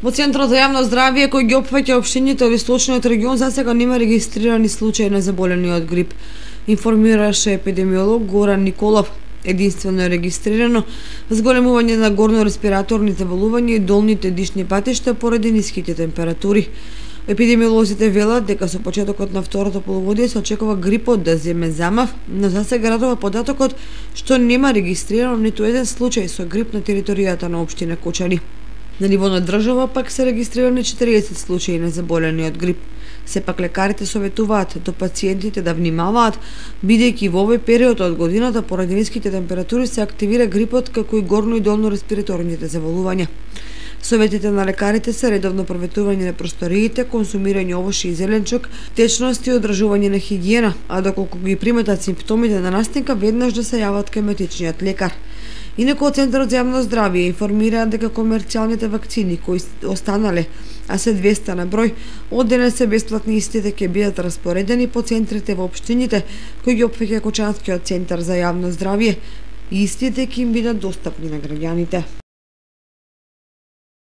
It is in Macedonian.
Во Центарот за јавно здравје кој ги опфаќа општините од источниот регион засега нема регистрирани случаи на заболени од грип, информираше епидемиолог Горан Николов. Единствено е регистрирано зголемување на горно-респираторните болувања и долните дишни патишта поради ниските температури. Епидемиолозите велат дека со почетокот на второто полугодие се очекува грипот да земе замав, но засега радува податокот што нема регистрирано ниту еден случај со грип на територијата на општина Кочани. На ниво на држава пак се регистрирани 40 случаи на заболени од грип. Сепак лекарите советуваат до пациентите да внимаваат, бидејќи во овој период од годината поради ниските температури се активира грипот како и горно и долно респираторните заболувања. Советите на лекарите се редовно проветување на просториите, консумирање овошје и зеленчук, течност и одржување на хигиена, а доколку ги приметат симптомите на настинка, веднаш да се јават кај матичниот лекар. Инаку од Центарот за јавно здравје информираат дека комерцијалните вакцини кои останале, а се 200 на број, од денес се бесплатни, истите ќе бидат распоредени по центрите во општините кои ги опфаќа Кочанскиот центар за јавно здравје и истите ќе им бидат достапни на граѓаните.